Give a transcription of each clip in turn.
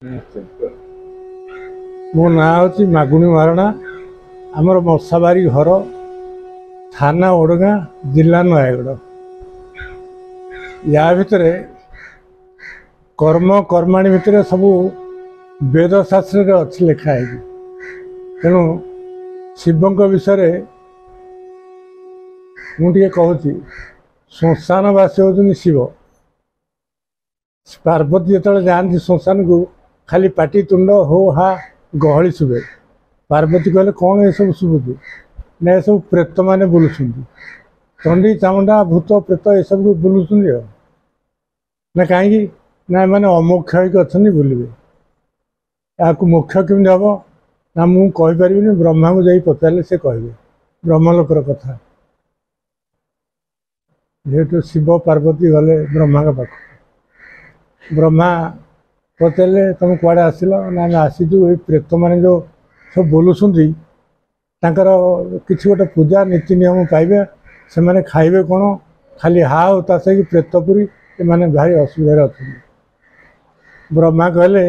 ମୋ ନାଁ ହେଉଛି ମାଗୁଣି ମହାରଣା। ଆମର ମଶାବାରି ଘର, ଥାନା ଓଡ଼ଗାଁ, ଜିଲ୍ଲା ନୟାଗଡ଼। ୟା ଭିତରେ କର୍ମ କର୍ମାଣୀ ଭିତରେ ସବୁ ବେଦ ଶାସ୍ତ୍ରରେ ଅଛି ଲେଖା ହେଇକି। ତେଣୁ ଶିବଙ୍କ ବିଷୟରେ ମୁଁ ଟିକେ କହୁଛି। ଶ୍ମଶାନବାସୀ ହେଉଛନ୍ତି ଶିବ। ପାର୍ବତୀ ଯେତେବେଳେ ଯାଆନ୍ତି ଶ୍ମଶାନକୁ, ଖାଲି ପାଟି ତୁଣ୍ଡ ହୋ ହା ଗହଳି ଶୁଭେ। ପାର୍ବତୀ କହିଲେ, କ'ଣ ଏସବୁ ଶୁଭୁଛି? ନା, ଏସବୁ ପ୍ରେତମାନେ ବୁଲୁଛନ୍ତି, ଚଣ୍ଡୀ ଚାମୁଣ୍ଡା ଭୂତ ପ୍ରେତ ଏସବୁ ବୁଲୁଛନ୍ତି। ଆଉ ନା କାହିଁକି? ନା, ଏମାନେ ଅମୋକ୍ଷ ହେଇକି ଅଛନ୍ତି, ବୁଲିବେ। ଏହାକୁ ମୋକ୍ଷ କେମିତି ହେବ? ନା, ମୁଁ କହିପାରିବିନି, ବ୍ରହ୍ମାଙ୍କୁ ଯାଇ ପଚାରିଲେ ସେ କହିବେ, ବ୍ରହ୍ମଲୋକର କଥା। ଯେହେତୁ ଶିବ ପାର୍ବତୀ ଗଲେ ବ୍ରହ୍ମାଙ୍କ ପାଖକୁ, ବ୍ରହ୍ମା ପଚାରିଲେ, ତୁମେ କୁଆଡ଼େ ଆସିଲ? ନା, ଆମେ ଆସିଛୁ, ଏଇ ପ୍ରେତମାନେ ଯେଉଁ ସବୁ ବୁଲୁଛନ୍ତି ତାଙ୍କର କିଛି ଗୋଟେ ପୂଜା ନୀତି ନିୟମ ପାଇବେ। ସେମାନେ ଖାଇବେ କ'ଣ? ଖାଲି ହା ହୁତାଶ ହେଇକି ପ୍ରେତପୁରୀ, ଏମାନେ ଭାରି ଅସୁବିଧାରେ ଅଛନ୍ତି। ବ୍ରହ୍ମା କହିଲେ,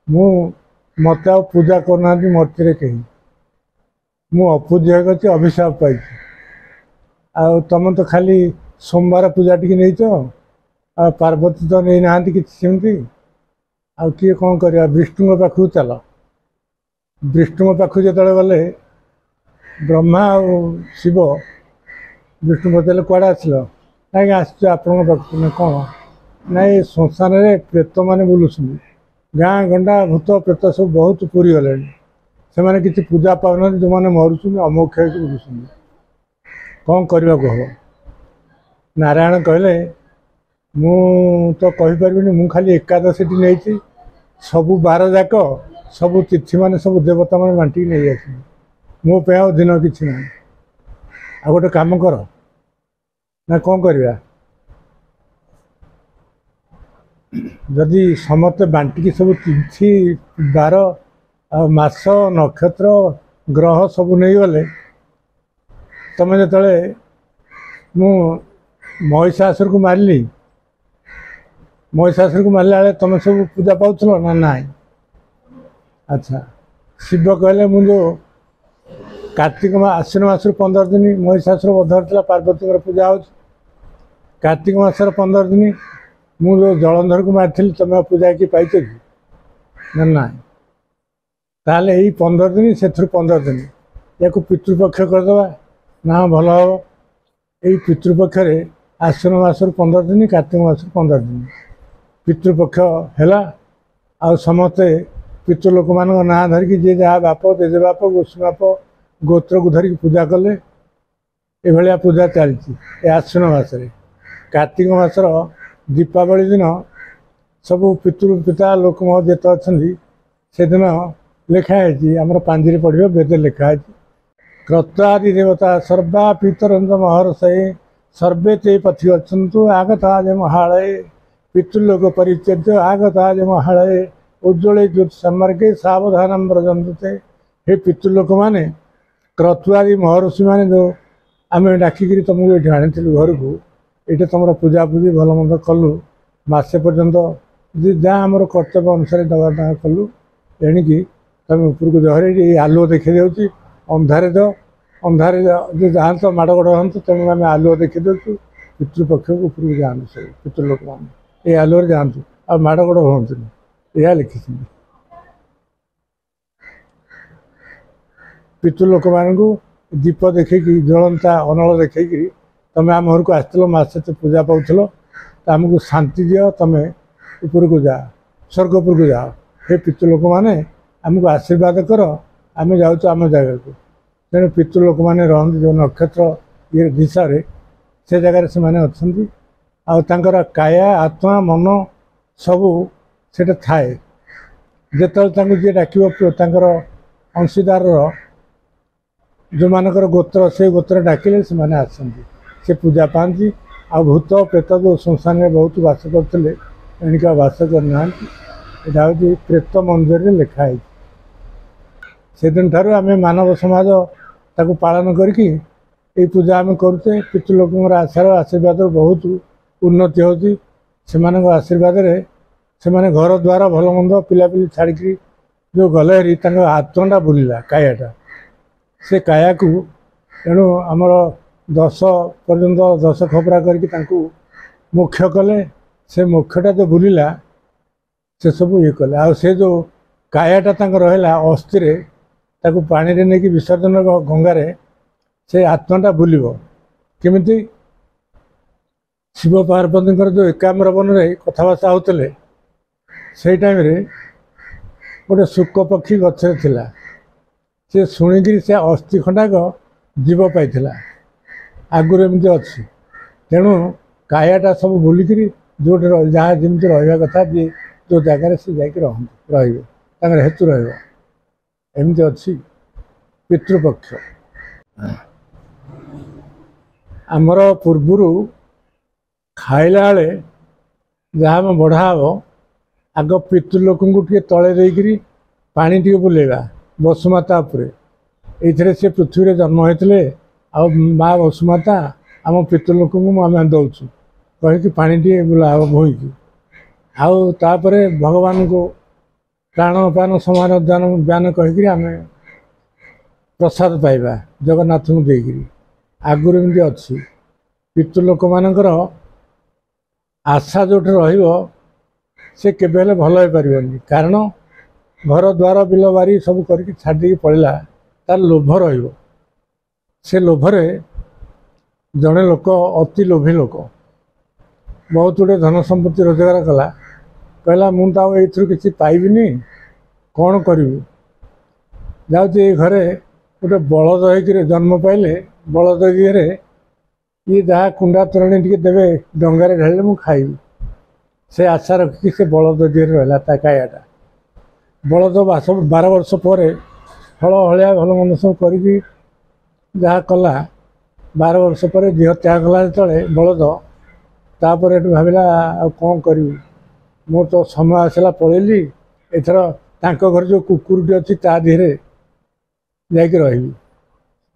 ମୁଁ ମୋତେ ଆଉ ପୂଜା କରୁନାହାନ୍ତି ମୂର୍ତ୍ତିରେ କେହି, ମୁଁ ଅପୂଜ୍ୟ ହେଇକି ଅଭିଶାପ ପାଇଛି। ଆଉ ତମେ ତ ଖାଲି ସୋମବାର ପୂଜା ଟିକେ ନେଇଛ, ଆଉ ପାର୍ବତୀ ତ ନେଇନାହାନ୍ତି କିଛି ସେମିତି। ଆଉ କିଏ କ'ଣ କରିବା? ବିଷ୍ଣୁଙ୍କ ପାଖକୁ ଚାଲ। ବିଷ୍ଣୁଙ୍କ ପାଖକୁ ଯେତେବେଳେ ଗଲେ ବ୍ରହ୍ମା ଆଉ ଶିବ, ବିଷ୍ଣୁ ପଚାରିଲେ, କୁଆଡ଼େ ଆସିଲ? ନାଇଁ, ଆସିଛୁ ଆପଣଙ୍କ ପାଖକୁ। ନା, କ'ଣ? ନାଇଁ, ଏ ଶ୍ମଶାନରେ ପ୍ରେତମାନେ ବୁଲୁଛନ୍ତି, ଗାଁ ଗଣ୍ଡା ଭୂତ ପ୍ରେତ ସବୁ ବହୁତ ପୁରିଗଲେଣି, ସେମାନେ କିଛି ପୂଜା ପାଉନାହାନ୍ତି, ଯେଉଁମାନେ ମରୁଛନ୍ତି ଅମୋକ୍ଷ ହେଇକି ବୁଲୁଛନ୍ତି, କ'ଣ କରିବାକୁ ହେବ? ନାରାୟଣ କହିଲେ, ମୁଁ ତ କହିପାରିବିନି, ମୁଁ ଖାଲି ଏକାଦଶୀଟି ନେଇଛି, ସବୁ ବାର ଯାକ ସବୁ ତିଥିମାନେ ସବୁ ଦେବତାମାନେ ବାଣ୍ଟିକି ନେଇ ଆସିଛନ୍ତି, ମୋ ପାଇଁ ଆଉ ଦିନ କିଛି ନାହିଁ। ଆଉ ଗୋଟେ କାମ କର। ନା, କ'ଣ କରିବା? ଯଦି ସମସ୍ତେ ବାଣ୍ଟିକି ସବୁ ତିଥି ବାର ଆଉ ମାସ ନକ୍ଷତ୍ର ଗ୍ରହ ସବୁ ନେଇଗଲେ, ତମେ ଯେତେବେଳେ ମୁଁ ମହିଷାସୁରକୁ ମାରିଲି, ମହିଷାସୁରକୁ ମାରିଲା ବେଳେ ତମେ ସବୁ ପୂଜା ପାଉଥିଲ ନା ନାଇଁ? ଆଚ୍ଛା। ଶିବ କହିଲେ, ମୁଁ ଯେଉଁ କାର୍ତ୍ତିକ ଆଶ୍ୱିନ ମାସରୁ 15 ଦିନ ମହିଷାସୁର ବଧ ହେଇଥିଲା, ପାର୍ବତୀଙ୍କର ପୂଜା ହେଉଛି। କାର୍ତ୍ତିକ ମାସର 15 ଦିନ ମୁଁ ଯେଉଁ ଜଳନ୍ଧରକୁ ମାରିଥିଲି, ତମେ ଆଉ ପୂଜା କି ପାଇଛ କି? ନା ନାଇଁ। ତାହେଲେ ଏଇ 15 ଦିନ, ସେଥିରୁ 15 ଦିନ ୟାକୁ ପିତୃପକ୍ଷ କରିଦେବା ନା ଭଲ ହେବ। ଏଇ ପିତୃପକ୍ଷରେ ଆଶ୍ୱିନ ମାସରୁ 15 ଦିନ, କାର୍ତ୍ତିକ ମାସରୁ 15 ଦିନ ପିତୃପକ୍ଷ ହେଲା। ଆଉ ସମସ୍ତେ ପିତୃ ଲୋକମାନଙ୍କ ନାଁ ଧରିକି ଯିଏ ଯାହା ବାପ ଜେଜେବାପ ଗୋସ୍ୱାମୀ ଗୋତ୍ରକୁ ଧରିକି ପୂଜା କଲେ। ଏଭଳିଆ ପୂଜା ଚାଲିଛି ଏ ଆଶ୍ୱିନ ମାସରେ। କାର୍ତ୍ତିକ ମାସର ଦୀପାବଳି ଦିନ ସବୁ ପିତୃ ପିତା ଲୋକ ଯେତେ ଅଛନ୍ତି, ସେଦିନ ଲେଖା ହେଇଛି, ଆମର ପାଞ୍ଜିରେ ପଢ଼ିବ, ବେଦରେ ଲେଖା ହେଇଛି, କ୍ରତ୍ୱାଦି ଦେବତା ସର୍ବା ପିତରନ୍ତ ମହର୍ଷେ ସର୍ବେ ତେ ପଥି ଅଛନ୍ତି ଆଗତା ଯେ ମହାଳୟ ପିତୃଲୋକ ପରିଚର୍ଯ୍ୟ ଆଗତା ଯେ ମହାଳୟ ଉଜ୍ଜ୍ୱଳେ ଜ୍ୟୋତି ସମ୍ମାର୍ଗେ ସାବଧାନ ବ୍ରଜନ୍ତେ। ହେ ପିତୃଲୋକମାନେ, କ୍ରତୁଆଦି ମହର୍ଷିମାନେ, ଯେଉଁ ଆମେ ଡାକିକିରି ତୁମକୁ ଏଇଠି ଆଣିଥିଲୁ ଘରକୁ, ଏଇଠି ତୁମର ପୂଜାପୂଜି ଭଲ ମନ୍ଦ କଲୁ ମାସେ ପର୍ଯ୍ୟନ୍ତ, ଯେ ଯାହା ଆମର କର୍ତ୍ତବ୍ୟ ଅନୁସାରେ ଦେବା ଦାନ କଲୁ, ଏଣିକି ତୁମେ ଉପରକୁ ଜହରେ ଏଇ ଆଲୁଅ ଦେଖାଇ ଦେଉଛି। ଅନ୍ଧାରେ ତ ଅନ୍ଧାରେ ଯେ ଯାଆନ୍ତ ମାଡ଼ ଗୋଡ଼ ହୁଅନ୍ତୁ, ତେଣୁ ଆମେ ଆଲୁଅ ଦେଖାଇ ଦେଉଛୁ। ପିତୃପକ୍ଷକୁ ଉପରକୁ ଯାଆନ୍ତୁ, ସବୁ ପିତୃଲୋକମାନେ ଏଇ ଆଲୁଅରେ ଯାଆନ୍ତୁ ଆଉ ମାଡ଼ ଗୋଡ଼ ହୁଅନ୍ତୁନି, ଏହା ଲେଖିଛନ୍ତି। ପିତୃଲୋକମାନଙ୍କୁ ଦୀପ ଦେଖେଇକି, ଜ୍ୱଳନ୍ତା ଅନଳ ଦେଖେଇକିରି, ତମେ ଆମ ଘରକୁ ଆସିଥିଲ, ମାସେ ତ ପୂଜା ପାଉଥିଲ, ତ ଆମକୁ ଶାନ୍ତି ଦିଅ, ତମେ ଉପରକୁ ଯାଅ, ସ୍ୱର୍ଗ ଉପରକୁ ଯାଅ। ହେ ପିତୃଲୋକମାନେ, ଆମକୁ ଆଶୀର୍ବାଦ କର, ଆମେ ଯାଉଛୁ ଆମ ଜାଗାକୁ। ତେଣୁ ପିତୃଲୋକମାନେ ରହନ୍ତି ଯେଉଁ ନକ୍ଷତ୍ର ଇଏ ଦିଶାରେ, ସେ ଜାଗାରେ ସେମାନେ ଅଛନ୍ତି। ଆଉ ତାଙ୍କର କାୟା ଆତ୍ମା ମନ ସବୁ ସେଇଟା ଥାଏ। ଯେତେବେଳେ ତାଙ୍କୁ ଯିଏ ଡାକିବ, ତାଙ୍କର ଅଂଶୀଦାରର ଯେଉଁମାନଙ୍କର ଗୋତ୍ର, ସେ ଗୋତ୍ର ଡାକିଲେ ସେମାନେ ଆସନ୍ତି, ସେ ପୂଜା ପାଆନ୍ତି। ଆଉ ଭୂତ ପ୍ରେତ ଯେଉଁ ଶ୍ମଶାନରେ ବହୁତ ବାସ କରୁଥିଲେ, ଏଣିକି ଆଉ ବାସ କରିନାହାନ୍ତି। ଏଇଟା ହେଉଛି ପ୍ରେତ ମନ୍ଦିରରେ ଲେଖା ହେଇଛି। ସେଦିନଠାରୁ ଆମେ ମାନବ ସମାଜ ତାକୁ ପାଳନ କରିକି ଏଇ ପୂଜା ଆମେ କରୁଛେ। ପିତୃଲୋକଙ୍କର ଆଶାର ଆଶୀର୍ବାଦରୁ ବହୁତ ଉନ୍ନତି ହେଉଛି। ସେମାନଙ୍କ ଆଶୀର୍ବାଦରେ ସେମାନେ ଘର ଦ୍ୱାର ଭଲ ମନ୍ଦ ପିଲାପିଲି ଛାଡ଼ିକିରି ଯେଉଁ ଗଲେ ହେରି, ତାଙ୍କ ଆତ୍ମାଟା ବୁଲିଲା କାୟାଟା, ସେ କାୟାକୁ ତେଣୁ ଆମର 10 ପର୍ଯ୍ୟନ୍ତ 10 ଖପରା କରିକି ତାଙ୍କୁ ମୋକ୍ଷ କଲେ। ସେ ମୋକ୍ଷଟା ଯେଉଁ ବୁଲିଲା ସେ ସବୁ ଇଏ କଲେ। ଆଉ ସେ ଯେଉଁ କାୟାଟା ତାଙ୍କ ରହିଲା ଅସ୍ଥିରେ, ତାକୁ ପାଣିରେ ନେଇକି ବିସର୍ଜନ ଗଙ୍ଗାରେ, ସେ ଆତ୍ମାଟା ବୁଲିବ କେମିତି? ଶିବ ପାର୍ବତୀଙ୍କର ଯେଉଁ ଏକାମ୍ର ବନରେ କଥାବାର୍ତ୍ତା ହେଉଥିଲେ, ସେଇ ଟାଇମ୍ରେ ଗୋଟେ ଶୁକ ପକ୍ଷୀ ଗଛରେ ଥିଲା। ସେ ଶୁଣିକିରି ସେ ଅସ୍ଥି ଖଣ୍ଡାକ ଜୀବ ପାଇଥିଲା। ଆଗରୁ ଏମିତି ଅଛି। ତେଣୁ କାୟାଟା ସବୁ ବୁଲିକିରି ଯେଉଁଠି ଯାହା ଯେମିତି ରହିବା କଥା, ଯିଏ ଯେଉଁ ଜାଗାରେ ସେ ଯାଇକି ରହନ୍ତି, ରହିବେ, ତାଙ୍କର ହେତୁ ରହିବ। ଏମିତି ଅଛି ପିତୃପକ୍ଷ। ଆମର ପୂର୍ବରୁ ଖାଇଲା ବେଳେ ଯାହା ଆମେ ବଢ଼ା ହେବ, ଆଗ ପିତୃଲୋକଙ୍କୁ ଟିକେ ତଳେ ଦେଇକିରି ପାଣି ଟିକେ ବୁଲେଇବା ବସୁମାତା ଉପରେ। ଏଇଥିରେ ସେ ପୃଥିବୀରେ ଜନ୍ମ ହୋଇଥିଲେ, ଆଉ ମା ବସୁମାତା ଆମ ପିତୃଲୋକଙ୍କୁ ଆମେ ଦେଉଛୁ କହିକି ପାଣି ଟିକେ ବୁଲା ହେବ ବୋହିକି। ଆଉ ତାପରେ ଭଗବାନଙ୍କୁ ପ୍ରାଣ ପାନ ସମାନ ଦାନ ବ୍ୟାନ କହିକିରି ଆମେ ପ୍ରସାଦ ପାଇବା ଜଗନ୍ନାଥଙ୍କୁ ଦେଇକିରି। ଆଗରୁ ଏମିତି ଅଛି। ପିତୃଲୋକମାନଙ୍କର ଆଶା ଯେଉଁଠି ରହିବ ସେ କେବେ ହେଲେ ଭଲ ହେଇପାରିବନି। କାରଣ ଘର ଦ୍ୱାର ବିଲ ବାରି ସବୁ କରିକି ଛାଡ଼ି ଦେଇକି ପଳେଇଲା, ତାର ଲୋଭ ରହିବ। ସେ ଲୋଭରେ ଜଣେ ଲୋକ ଅତି ଲୋଭୀ ଲୋକ ବହୁତ ଗୁଡ଼ିଏ ଧନ ସମ୍ପତ୍ତି ରୋଜଗାର କଲା। କହିଲା ମୁଁ ତ ଆଉ ଏଇଥିରୁ କିଛି ପାଇବିନି, କ'ଣ କରିବି? ଯାଉଛି ଏଇ ଘରେ ଗୋଟେ ବଳଦ ହେଇକିରି ଜନ୍ମ ପାଇଲେ, ବଳଦ ଦିହରେ ଇଏ ଯାହା କୁଣ୍ଡା ତୋରାଣି ଟିକେ ଦେବେ ଡଙ୍ଗାରେ ଢାଳିଲେ ମୁଁ ଖାଇବି। ସେ ଆଶା ରଖିକି ସେ ବଳଦ ଦିହରେ ରହିଲା ତା କାୟାଟା। ବଳଦ 12 ବର୍ଷ ପରେ ହଳ ହଳିଆ ଭଲ ମନ୍ଦ ସବୁ କରିକି ଯାହା କଲା, 12 ବର୍ଷ ପରେ ଦେହ ତ୍ୟାଗ କଲା ଯେତେବେଳେ ବଳଦ, ତାପରେ ଏଠୁ ଭାବିଲା ଆଉ କ'ଣ କରିବି, ମୋର ତ ସମୟ ଆସିଲା ପଳେଇଲି, ଏଥର ତାଙ୍କ ଘରେ ଯେଉଁ କୁକୁରଟି ଅଛି ତା ଦେହରେ ଯାଇକି ରହିବି।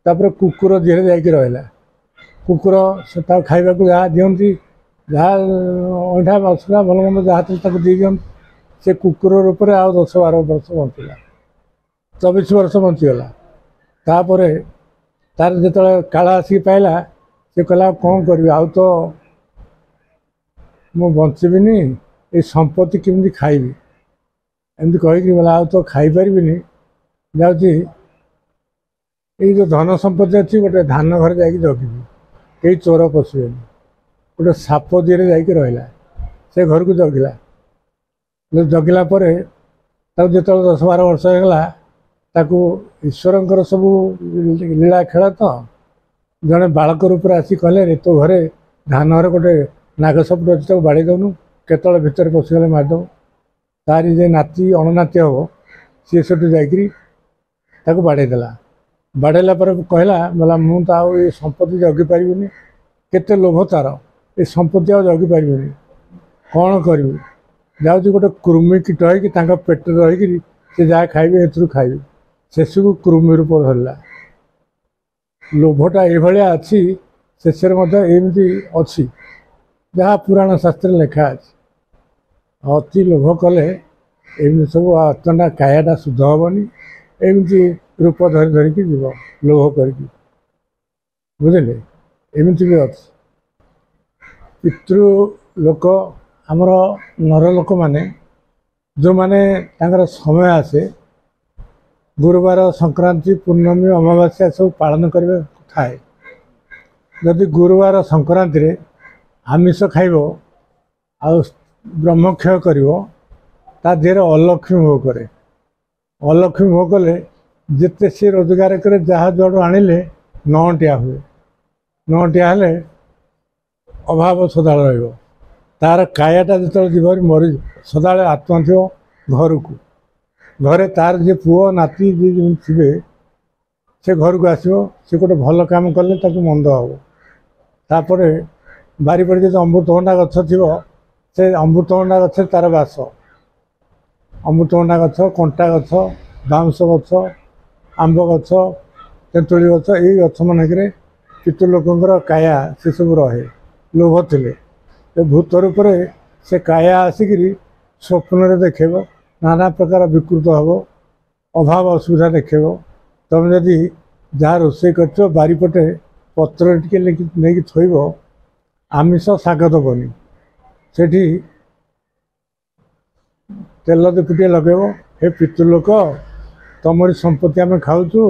ତାପରେ କୁକୁର ଦେହରେ ଯାଇକି ରହିଲା। କୁକୁର ସେ ତାକୁ ଖାଇବାକୁ ଯାହା ଦିଅନ୍ତି, ଯାହା ଅଇଁଠା ମସଲା ଭଲ ମନ୍ଦ ଯାହା ଥିଲା ତାକୁ ଦେଇ ଦିଅନ୍ତି। ସେ କୁକୁର ରୂପରେ ଆଉ 10-12 ବର୍ଷ ବଞ୍ଚିଲା, 24 ବର୍ଷ ବଞ୍ଚିଗଲା। ତାପରେ ତାର ଯେତେବେଳେ କାଳ ଆସିକି ପାଇଲା, ସେ କହିଲା ଆଉ କ'ଣ କରିବି, ଆଉ ତ ମୁଁ ବଞ୍ଚିବିନି, ଏଇ ସମ୍ପତ୍ତି କେମିତି ଖାଇବି? ଏମିତି କହିକି ବୋଲେ ଆଉ ତ ଖାଇପାରିବିନି, ଯାଉଛି ଏଇ ଯେଉଁ ଧନ ସମ୍ପତ୍ତି ଅଛି ଗୋଟେ ଧାନ ଘରେ ଯାଇକି ଜଗିବି, କେହି ଚୋର ପଶିବେନି। ଗୋଟେ ସାପ ଦିହରେ ଯାଇକି ରହିଲା, ସେ ଘରକୁ ଜଗିଲା। ଜଗିଲା ପରେ ତାକୁ ଯେତେବେଳେ 10-12 ବର୍ଷ ହେଇଗଲା, ତାକୁ ଈଶ୍ୱରଙ୍କର ସବୁ ଲୀଳା ଖେଳ ତ, ଜଣେ ବାଳକ ରୂପରେ ଆସି କହିଲେ ରେ ତୋ ଘରେ ଧାନ ଘରେ ଗୋଟେ ନାଗ ସାପଟେ ଅଛି, ତାକୁ ବାଡ଼େଇ ଦେଉନୁ, କେତେବେଳେ ଭିତରେ ପଶିଗଲେ ମାରିଦେବୁ। ତାରି ଯେ ନାତି ଅଣନାତି ହେବ ସିଏ ସେଠୁ ଯାଇକିରି ତାକୁ ବାଡ଼େଇ ଦେଲା। ବାଡ଼େଇଲା ପରେ କହିଲା, ବୋଲା ମୁଁ ତ ଆଉ ଏ ସମ୍ପତ୍ତି ଜଗିପାରିବିନି, କେତେ ଲୋଭ ତାର, ଏ ସମ୍ପତ୍ତି ଆଉ ଜଗିପାରିବିନି, କ'ଣ କରିବି? ଯାଉଛି ଗୋଟେ କୃମି କୀଟ ହେଇକି ତାଙ୍କ ପେଟରେ ରହିକିରି ସେ ଯାହା ଖାଇବେ ଏଥିରୁ ଖାଇବେ। ଶେଷକୁ କୃମି ରୂପ ଧରିଲା। ଲୋଭଟା ଏଇଭଳିଆ ଅଛି, ଶେଷରେ ମଧ୍ୟ ଏମିତି ଅଛି, ଯାହା ପୁରାଣ ଶାସ୍ତ୍ରରେ ଲେଖା ଅଛି। ଅତି ଲୋଭ କଲେ ଏମିତି ସବୁ ଆତ୍ମାଟା କାୟାଟା ଶୁଦ୍ଧ ହେବନି, ଏମିତି ରୂପ ଧରି ଧରିକି ଯିବ ଲୋଭ କରିକି, ବୁଝିଲେ? ଏମିତି ବି ଅଛି। ପିତୃ ଲୋକ ଆମର ନର ଲୋକମାନେ ଯେଉଁମାନେ ତାଙ୍କର ସମୟ ଆସେ, ଗୁରୁବାର, ସଂକ୍ରାନ୍ତି, ପୂର୍ଣ୍ଣମୀ, ଅମାବାସ୍ୟା ସବୁ ପାଳନ କରିବାକୁ ଥାଏ। ଯଦି ଗୁରୁବାର ସଂକ୍ରାନ୍ତିରେ ଆମିଷ ଖାଇବ ଆଉ ବ୍ରହ୍ମକ୍ଷୟ କରିବ, ତା ଦେହରେ ଅଲକ୍ଷ୍ମୀ ଭୋଗ କରେ। ଅଲକ୍ଷ୍ମୀ ଭୋଗ କଲେ ଯେତେ ସିଏ ରୋଜଗାର କରେ, ଯାହା ଯୁଆଡ଼ୁ ଆଣିଲେ ନଅଣ୍ଟିଆ ହୁଏ। ନଅଣ୍ଟିଆ ହେଲେ ଅଭାବ ସଦାବେଳେ ରହିବ। ତାର କାୟାଟା ଯେତେବେଳେ ଯିବ ମରିଯିବ, ସଦାବେଳେ ଆତ୍ମା ଥିବ ଘରକୁ। ଘରେ ତାର ଯିଏ ପୁଅ ନାତି ଯିଏ ଯେମିତି ଥିବେ, ସେ ଘରକୁ ଆସିବ। ସେ ଗୋଟେ ଭଲ କାମ କଲେ ତାକୁ ମନ୍ଦ ହେବ। ତାପରେ ବାରିପଟେ ଯଦି ଅମୃତଭଣ୍ଡା ଗଛ ଥିବ, ସେ ଅମୃତଭଣ୍ଡା ଗଛରେ ତାର ବାସ। ଅମୃତଭଣ୍ଡା ଗଛ, କଣ୍ଟା ଗଛ, ବାଉଁଶ ଗଛ, ଆମ୍ବ ଗଛ, ତେନ୍ତୁଳି ଗଛ, ଏଇ ଗଛମାନଙ୍କରେ ପିତୃ ଲୋକଙ୍କର କାୟା ସେସବୁ ରହେ। ଲୋଭ ଥିଲେ ଏ ଭୂତ ରୂପରେ ସେ କାୟା ଆସିକିରି ସ୍ୱପ୍ନରେ ଦେଖେଇବ, ନାନା ପ୍ରକାର ବିକୃତ ହେବ, ଅଭାବ ଅସୁବିଧା ଦେଖେଇବ। ତୁମେ ଯଦି ଯାହା ରୋଷେଇ କରିଥିବ ବାରିପଟେ ପତ୍ର ଟିକେ ନେଇକି ଥୋଇବ, ଆମିଷ ଶାଗ ଦେବନି, ସେଠି ତେଲ ଟିକେ ଲଗେଇବ, ହେ ପିତୃଲୋକ ତମରି ସମ୍ପତ୍ତି ଆମେ ଖାଉଛୁ,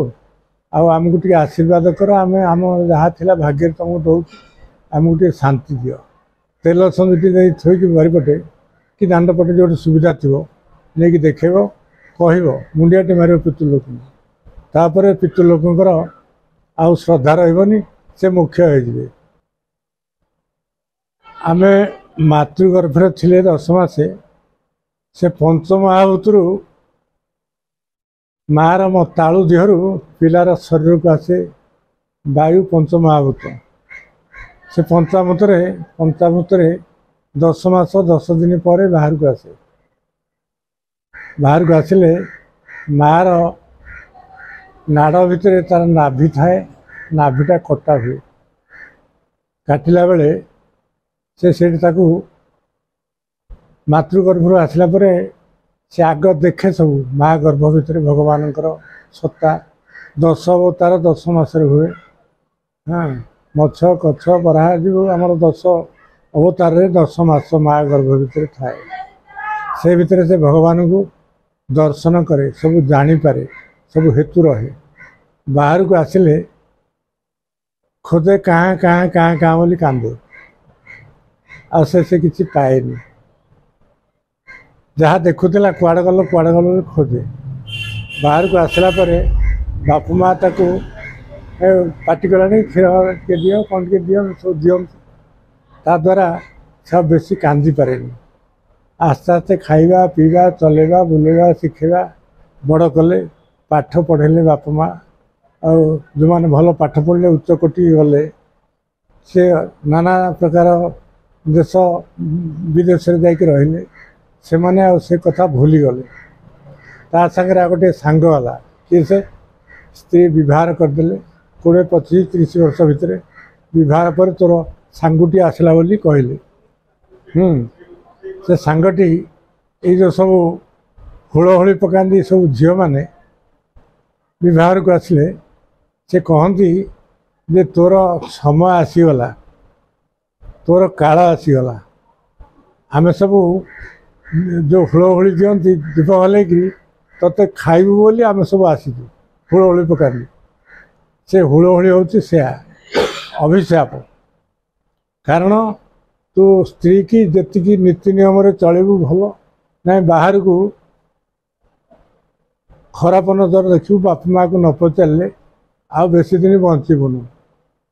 ଆଉ ଆମକୁ ଟିକେ ଆଶୀର୍ବାଦ କର, ଆମେ ଆମ ଯାହା ଥିଲା ଭାଗ୍ୟରେ ତୁମକୁ ଦେଉଛୁ, ଆମକୁ ଟିକେ ଶାନ୍ତି ଦିଅ। ତେଲ ସଞ୍ଜୁଟି ଦେଇ ଥୋଇକି ବାରିପଟେ କି ଦାଣ୍ଡ ପଟେ ଯେଉଁଠି ସୁବିଧା ଥିବ ନେଇକି ଦେଖେଇବ, କହିବ, ମୁଣ୍ଡିଆଟି ମାରିବ ପିତୃଲୋକଙ୍କୁ। ତାପରେ ପିତୃଲୋକଙ୍କର ଆଉ ଶ୍ରଦ୍ଧା ରହିବନି, ସେ ମୁଖ୍ୟ ହେଇଯିବେ। ଆମେ ମାତୃଗର୍ଭରେ ଥିଲେ 10 ମାସେ, ସେ ପଞ୍ଚମହାଭୂତରୁ ମାଆର ତାଳୁ ଦେହରୁ ପିଲାର ଶରୀରକୁ ଆସେ ବାୟୁ ପଞ୍ଚମହାଭୂତ। ସେ ପଞ୍ଚାମୃତରେ 10 ମାସ 10 ଦିନ ପରେ ବାହାରକୁ ଆସେ। ବାହାରକୁ ଆସିଲେ ମାଆର ନାଡ଼ ଭିତରେ ତାର ନାଭି ଥାଏ, ନାଭିଟା କଟା ହୁଏ। କାଟିଲା ବେଳେ ସେ ସେଇଠି ତାକୁ ମାତୃଗର୍ଭରୁ ଆସିଲା ପରେ ସେ ଆଗ ଦେଖେ ସବୁ ମା ଗର୍ଭ ଭିତରେ ଭଗବାନଙ୍କର ସତ୍ତା। 10 ଅବତାର 10 ମାସରେ ହୁଏ। ହଁ, ମତ୍ସ୍ୟ କଚ୍ଛ ବରାହ ଯିବ ଆମର 10 ଅବତାରରେ 10 ମାସ ମା ଗର୍ଭ ଭିତରେ ଥାଏ। ସେ ଭିତରେ ସେ ଭଗବାନଙ୍କୁ ଦର୍ଶନ କରେ, ସବୁ ଜାଣିପାରେ, ସବୁ ହେତୁ ରହେ। ବାହାରକୁ ଆସିଲେ ଖୋଜେ କାଁ କାଁ କାଁ କାଁ ବୋଲି କାନ୍ଦେ, ଆଉ ସେ କିଛି ପାଏନି। ଯାହା ଦେଖୁଥିଲା କୁଆଡ଼େ ଗଲ କୁଆଡ଼େ ଗଲ ବୋଲି ଖୋଜେ। ବାହାରକୁ ଆସିଲା ପରେ ବାପା ମା ତାକୁ ପାଟି କଲାଣି, କ୍ଷୀର ଟିକେ ଦିଅ, କ'ଣ ଟିକେ ଦିଅ, ସବୁ ଦିଅନ୍ତି। ତା ଦ୍ୱାରା ସେ ଆଉ ବେଶୀ କାନ୍ଦିପାରେନି। ଆସ୍ତେ ଆସ୍ତେ ଖାଇବା ପିଇବା ଚଲେଇବା ବୁଲେଇବା ଶିଖେଇବା ବଡ଼ କଲେ, ପାଠ ପଢ଼େଇଲେ ବାପା ମା। ଆଉ ଯେଉଁମାନେ ଭଲ ପାଠ ପଢ଼ିଲେ ଉଚ୍ଚ କୋଟି ଗଲେ, ସେ ନାନା ପ୍ରକାର ଦେଶ ବିଦେଶରେ ଯାଇକି ରହିଲେ, ସେମାନେ ଆଉ ସେ କଥା ଭୁଲିଗଲେ। ତା ସାଙ୍ଗରେ ଆଉ ଗୋଟିଏ ସାଙ୍ଗ ହେଲା, କିଏ ସେ ସ୍ତ୍ରୀ ବିବାହ କରିଦେଲେ 20, 25, 30 ବର୍ଷ ଭିତରେ। ବିବାହ ପରେ ତୋର ସାଙ୍ଗଟି ଆସିଲା ବୋଲି କହିଲେ। ସେ ସାଙ୍ଗଟି ଏଇ ଯେଉଁ ସବୁ ହୁଳହୁଳି ପକାନ୍ତି ସବୁ ଝିଅମାନେ ବିବାହକୁ ଆସିଲେ, ସେ କହନ୍ତି ଯେ ତୋର ସମୟ ଆସିଗଲା, ତୋର କାଳ ଆସିଗଲା। ଆମେ ସବୁ ଯେଉଁ ହୁଳହୁଳି ଦିଅନ୍ତି ଦୀପ ହଲେଇକିରି ତୋତେ ଖାଇବୁ ବୋଲି ଆମେ ସବୁ ଆସିଛୁ, ହୁଳହୁଳି ପକାନ୍ତି। ସେ ହୁଳହୁଳି ହେଉଛି ସେୟା ଅଭିଶାପ। କାରଣ ତୁ ସ୍ତ୍ରୀ କି ଯେତିକି ନୀତି ନିୟମରେ ଚଳିବୁ ଭଲ, ନାଇଁ ବାହାରକୁ ଖରାପ ନଜର ଦେଖିବୁ, ବାପା ମାଆକୁ ନ ପଚାରିଲେ ଆଉ ବେଶୀ ଦିନ ବଞ୍ଚିବୁନୁ।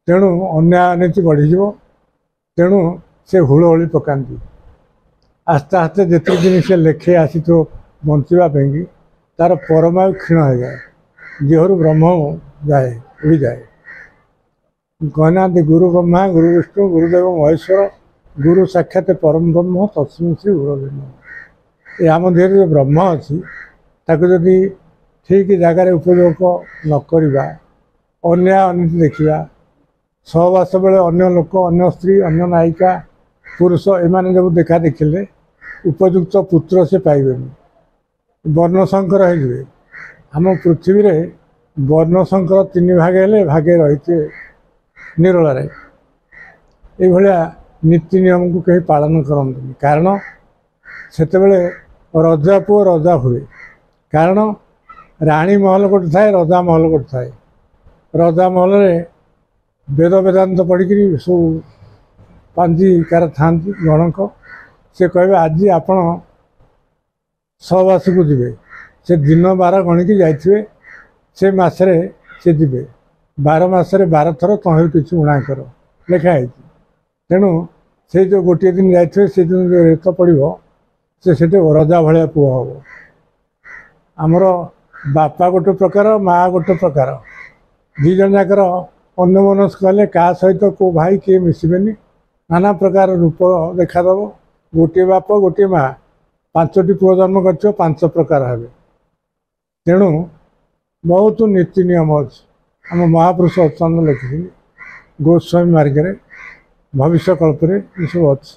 ତେଣୁ ଅନ୍ୟାୟ ଅନୀତି ବଢ଼ିଯିବ। ତେଣୁ ସେ ହୁଳହୁଳି ପକାନ୍ତି। ଆସ୍ତେ ଆସ୍ତେ ଯେତିକି ଦିନ ସେ ଲେଖେଇ ଆସିଥିବ ବଞ୍ଚିବା ପାଇଁକି, ତାର ପରମାୟୁ କ୍ଷୀଣ ହେଇଯାଏ, ଦେହରୁ ବ୍ରହ୍ମ ଯାଏ, ଉଡ଼ିଯାଏ। କହିନାହାନ୍ତି ଗୁରୁ ବ୍ରହ୍ମା ଗୁରୁ ବିଷ୍ଣୁ ଗୁରୁଦେବ ମହେଶ୍ୱର, ଗୁରୁ ସାକ୍ଷାତ ପରମ ବ୍ରହ୍ମ ତସ୍ମୈ ଶ୍ରୀ ଗୁରବେ ନମଃ। ଏ ଆମ ଦେହରେ ଯେଉଁ ବ୍ରହ୍ମ ଅଛି, ତାକୁ ଯଦି ଠିକ୍ ଜାଗାରେ ଉପଯୋଗ ନ କରିବା, ଅନ୍ୟାୟ ଅନୀତି ଦେଖିବା, ସହବାସ ବେଳେ ଅନ୍ୟ ଲୋକ, ଅନ୍ୟ ସ୍ତ୍ରୀ, ଅନ୍ୟ ନାୟିକା, ପୁରୁଷ ଏମାନେ ସବୁ ଦେଖା ଦେଖିଲେ ଉପଯୁକ୍ତ ପୁତ୍ର ସେ ପାଇବେନି, ବର୍ଣ୍ଣଶଙ୍କର ହେଇଯିବେ। ଆମ ପୃଥିବୀରେ ବର୍ଣ୍ଣଶଙ୍କର 3 ଭାଗ ହେଲେ ଭାଗେ ରହିଥିବେ ନିରୋଳାରେ। ଏଇଭଳିଆ ନୀତି ନିୟମକୁ କେହି ପାଳନ କରନ୍ତିନି। କାରଣ ସେତେବେଳେ ରଜା ପୁଅ ରଜା ହୁଏ। କାରଣ ରାଣୀ ମହଲ ଗୋଟେ ଥାଏ, ରଜା ମହଲ ଗୋଟେ ଥାଏ। ରଜା ମହଲରେ ବେଦ ବେଦାନ୍ତ ପଢ଼ିକିରି ସବୁ ପାଞ୍ଜିକାର ଥାଆନ୍ତି ଗଣକ। ସେ କହିବେ ଆଜି ଆପଣ ସହବାସକୁ ଯିବେ। ସେ ଦିନ ବାର ଗଣିକି ଯାଇଥିବେ, ସେ ମାସରେ ସେ ଯିବେ। 12 ମାସରେ 12 ଥର ତହିଁରୁ କିଛି ଊଣା କର ଲେଖା ହେଇଛି। ତେଣୁ ସେଇ ଯେଉଁ ଗୋଟିଏ ଦିନ ଯାଇଥିବେ, ସେଦିନ ଯେଉଁ ରେତ ପଡ଼ିବ, ସେ ସେଠି ରଜା ଭଳିଆ ପୁଅ ହେବ। ଆମର ବାପା ଗୋଟେ ପ୍ରକାର, ମା ଗୋଟେ ପ୍ରକାର, 2 ଜଣ ଯାକର ଅନ୍ୟମନସ୍କ ହେଲେ କାହା ସହିତ କେଉଁ ଭାଇ କିଏ ମିଶିବେନି, ନାନା ପ୍ରକାର ରୂପ ଦେଖାଦେବ। ଗୋଟିଏ ବାପ ଗୋଟିଏ ମା, 5ଟି ପୁଅ ଜନ୍ମ କରିଥିବ, 5 ପ୍ରକାର ହେବେ। ତେଣୁ ବହୁତ ନୀତି ନିୟମ ଅଛି। ଆମ ମହାପୁରୁଷ ଅତ୍ୟନ୍ତ ଲେଖିଛନ୍ତି ଗୋସ୍ୱାମୀ ମାର୍ଗରେ, ଭବିଷ୍ୟ କଳ୍ପରେ ଏସବୁ ଅଛି।